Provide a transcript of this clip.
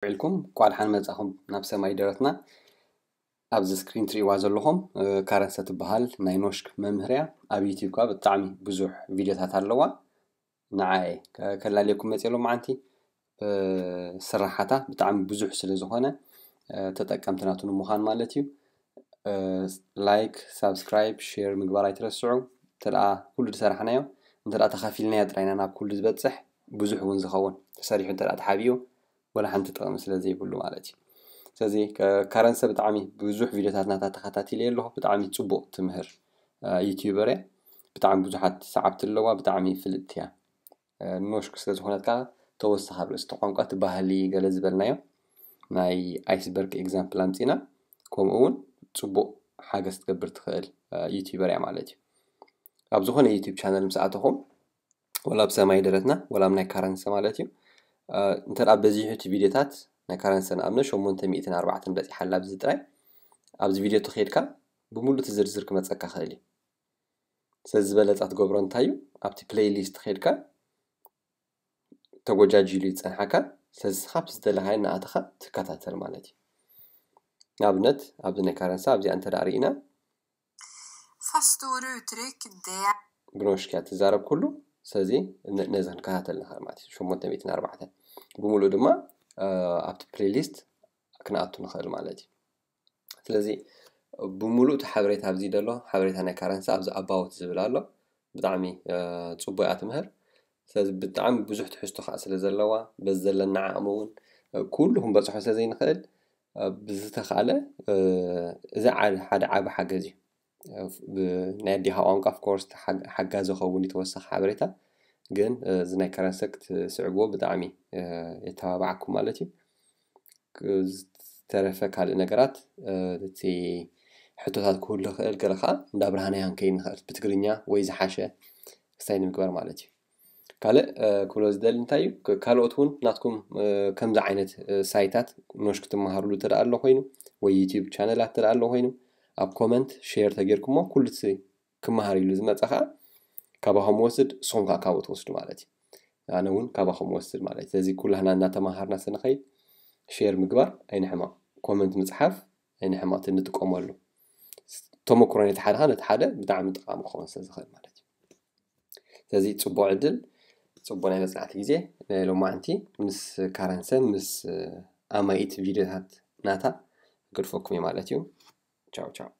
ውዒልኩም? እንኳዕ ደሓን መጻኹም ናብ ሰማይ ደረትና። ኣብዚ ስክሪን ትሪእዋ ዘለኹም ካረንሰ ትበሃል ናይ ኖሽክ መምህር እያ። ኣብ ዩቲዩብ ከኣ ብጣዕሚ ብዙሕ ቪድዮታት ኣለዋ። ንዓይ ከላልየኩም መፅእ ሎማዓንቲ። ስራሓታ ብጣዕሚ ብዙሕ ስለ ዝኾነ ተጠቀምቲ ናቱ ንምዃን ማለት እዩ። ላይክ፣ ሳብስክራይብ፣ ሼር ምግባር ኣይትረስዑ። እንተደኣ ኩሉ ዝሰራሕናዮ እንተደኣ ተኻፊልናዮ ጥራይና ናብ ኩሉ ዝበፅሕ ብዙሕ እውን ዝኸውን ተሰሪሑ እንተደኣ ተሓቢኡ ወላ ሓንቲ ጥቕሚ ስለ ዘይብሉ ማለት እዩ። ስለዚ ካረንሰ ብጣዕሚ ብዙሕ ቪድዮታት ናታ ተኸታቲለ ኣለኹ። ብጣዕሚ ፅቡቕ ትምህር ዩቲዩበር እያ። ብጣዕሚ ብዙሓት ሰዓብቲ ኣለዋ። ብጣዕሚ ፍልጥቲ እያ። ኖሽክ ስለ ዝኾነት ከዓ ተወሳኺ ኣብ ርእሲ እቲ ቋንቋ እቲ ባህሊ ገለ ዝበልናዮ ናይ ኣይስበርግ ኤግዛምፕል ኣምፂና ከምኡ እውን ፅቡቕ ሓገዝ ትገብር ትኽእል ዩቲዩበር እያ ማለት እዩ። ኣብ ዝኾነ ዩቲዩብ ቻነል ምስ ኣተኹም ወላ ኣብ ሰማይ ደረትና ወላ ኣብ ናይ ካረንሰ ማለት እዩ። እንተ በዚሑ እቲ ቪድዮታት ናይ ካረንሰ ንኣብነት ሸሞንተ ሚእትን ኣርባዕተን በፂሓ ኣላ ኣብዚ ጥራይ። ኣብዚ ቪድዮ ተኸይድካ ብምሉእ እቲ ዝርዝር ክመፀካ ክእል እዩ። ስለዚ ዝበለፃ ትገብሮ እንታይ እዩ? ኣብቲ ፕሌይሊስት ከይድካ ተጎጃጅሉ ይፀንሓካ። ስለዚ ካብቲ ዝደለኻዮ እናኣተኻ ትከታተል ማለት እዩ። ንኣብነት ኣብዚ ናይ ካረንሳ ኣብዚኣ እንተ ደኣ ርኢና Fast ord och uttryck, det ብኖሽክ እያ ትዛረብ ኩሉ። ስለዚ ነዚ ክንከታተል ንኽእል ማለት እዩ። ሸሞንተ ሚእትን ኣርባዕተን ብምሉእ ድማ ኣብቲ ፕሌይሊስት ክንኣቱ ንኽእል ማለት እዩ። ስለዚ ብምሉእ እቲ ሓበሬታ ኣብዚ ደሎ ሓበሬታ ናይ ካረንሳ ኣብዚ ኣባውት ዝብል ኣሎ። ብጣዕሚ ፅቡቅ እያ ትምህር። ስለዚ ብጣዕሚ ብዙሕ ትሕዝቶ ከዓ ስለ ዘለዋ በዚ ዘለና ዓቕሚ እውን ኩሉ ክንበፅሖ ስለ ዘይንኽእል ብዝተኻለ እዚ ሓደ ዓቢ ሓገዝ እዩ። ናይ ኣዴኻ ቋንቋ ኦፍኮርስ ሓጋዚ ኸውን ተወሳኺ ሓበሬታ ግን እዚ ናይ ካረንሰ ክትስዕብዎ ብጣዕሚ የተባባዓኩም ማለት እዩ። ዝተረፈ ካልእ ነገራት እቲ ሕቶታት ክህሉ ይኽእል፣ ገለ ከዓ እንዳ ብርሃናይ ክንከይድ ንኽእል ብትግርኛ ወይ ዝሓሸ ክስታይ ንምግባር ማለት እዩ። ካልእ ክብሎ ዝደሊ እንታይ እዩ፣ ካልኦት እውን ናትኩም ከምዚ ዓይነት ሳይታት ኖሽ ክትመሃርሉ እንተ ኣሎ ኮይኑ ወይ ዩቲዩብ ቻነላት እንተ ኣሎ ኮይኑ ኣብ ኮመንት ሼር ተጌርኩሞ ኩሉ እቲ ክመሃር ኢሉ ዝመፀ ከዓ ካባኹም ወስድ፣ ንስኹም ከዓ ካብኡ ትወስዱ ማለት እዩ። ኣነ እውን ካባኹም ወስድ ማለት እዩ። ስለዚ ኩላህና እናተመሃርና ስንኸይድ ሼር ምግባር ኣይንሕመቕ፣ ኮመንት ምፅሓፍ ኣይንሕመቕ፣ እቲ ንጥቀመሉ ተመክሮ ነቲ ሓደ ከዓ ነቲ ሓደ ብጣዕሚ ጠቃሚ ክኸውን ስለ ዝኽእል ማለት እዩ። ስለዚ ፅቡቅ ዕድል፣ ፅቡቅ ናይ መፅናዕቲ ግዜ። ናይ ሎማዓንቲ ምስ ካረንሰ ምስ ኣማኢት ቪድዮታት ናታ ገድፈኩም እዩ ማለት እዩ። ቻው ቻው።